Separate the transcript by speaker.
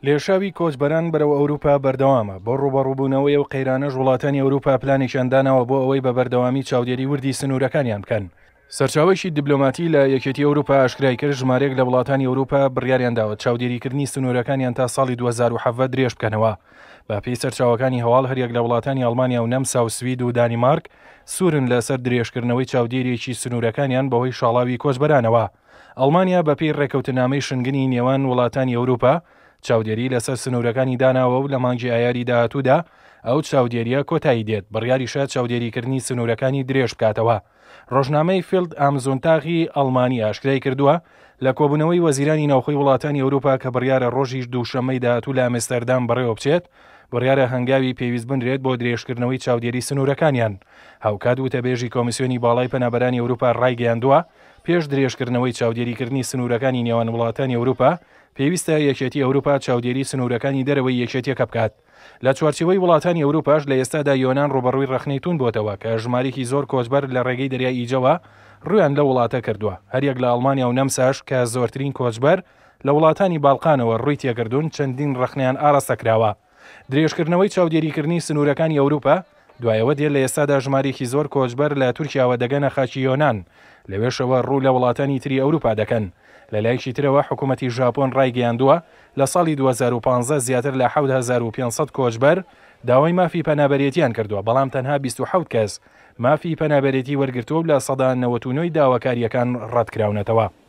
Speaker 1: لێشاوی کۆچبەران بەرەو ئەوروپا بەردەوامە، بۆ ڕووبەڕووبوونەوەی ئەو قەیرانەش وڵاتانی ئەوروپا پلانێکیان داناوە بۆ ئەوەی بە بەردەوامی چاودێری وردی سنوورەکانیان بکەن. سەرچاوەیەکی دیبلۆماتی لە یەکێتی ئەوروپا ئاشکرای کرد، ژمارەیەک لە وڵاتانی ئەوروپا بڕیاریان داوە چاودێریکردنی سنوورەکانیان تا ساڵی 2017 درێژ بکەنەوە. بەپێی سەرچاوەکانی هەواڵ هەریەک لە وڵاتانی ئەڵمانیا و نەمسا و سوید و دانیمارک سوورن لەسەر درێژکردنەوەی چاودێریی سنوورەکانیان بەهۆی شاڵاوی کۆچبەرانەوە. ئەڵمانیا بەپێی ڕێکەوتنامەی شنگنی نێوان وڵاتانی ئەوروپا چاودێری لەسەر سنوورەکانی داناوە و لە مانگی ئایاری داهاتوودا ئەو چاودێرییە کۆتایی دێت، بڕیاریشە چاودێریکردنی سنوورەکانی درێژ بکاتەوە. ڕۆژنامەی فیلد ئام زونتاغی ئەڵمانی ئاشکرای کردووە، لە کۆبوونەوەی وەزیرانی ناوخۆی وڵاتانی ئەوروپا کە بڕیارە ڕۆژی دووشەممەی داهاتوو لە ئەمستەردام بەڕێوەبچێت، بڕیارە هەنگاوی پێویست بنرێت بۆ درێژکردنەوەی چاودێری سنوورەکانیان. هاوکات وتەبێژی کۆمیسیۆنی باڵای پەنابەرانی ئەوروپا ڕایگەیاندووە، پێش درێژکردنەوەی چاودێریکردنی سنوورەکانی نێوان وڵاتانی ئەوروپا، پێویستە یەکێتی ئەوروپا چاودێری سنوورەکانی دەرەوەی یەکێتیەکە بکات. لە چوارچێوەی وڵاتانی ئەوروپاش لە ئێستادا یۆنان ڕووبەڕووی ڕەخنەی توند بۆتەوە کە ژمارێکی زۆر کۆچبەر لە ڕێگەی دەریای ئیجەوە ڕوویان لەو وڵاتە کردووە. هەریەک لە ئەڵمانیا و نەمساش کە زۆرترین کۆچبەر لە وڵاتانی باڵقانەوە ڕووی تێکردوون چەندین ڕەخنەیان ئاراستە کراوە. درێژکردنەوەی چاودێریکردنی سنوورەکانی ئەوروپا دوای ئەوە دێت لە ئێستادا ژمارەیەکی زۆر کۆچبەر لە تورکیاوە دەگەنە خاکی یۆنان، لەوێشەوە ڕوو لە وڵاتانی تری ئەوروپا دەکەن. لە لایەکی ترەوە حکومەتی ژاپۆن ڕایگەیاندووە، لە ساڵی 2015 زیاتر لە 7500 کۆچبەر داوای مافی پەنابەرێتیان کردووە، بەڵام تەنها 27 کەس مافی پەنابەرێتی وەرگرتووە و 99% ی داواکارییەکان ڕەتکراونەتەوە.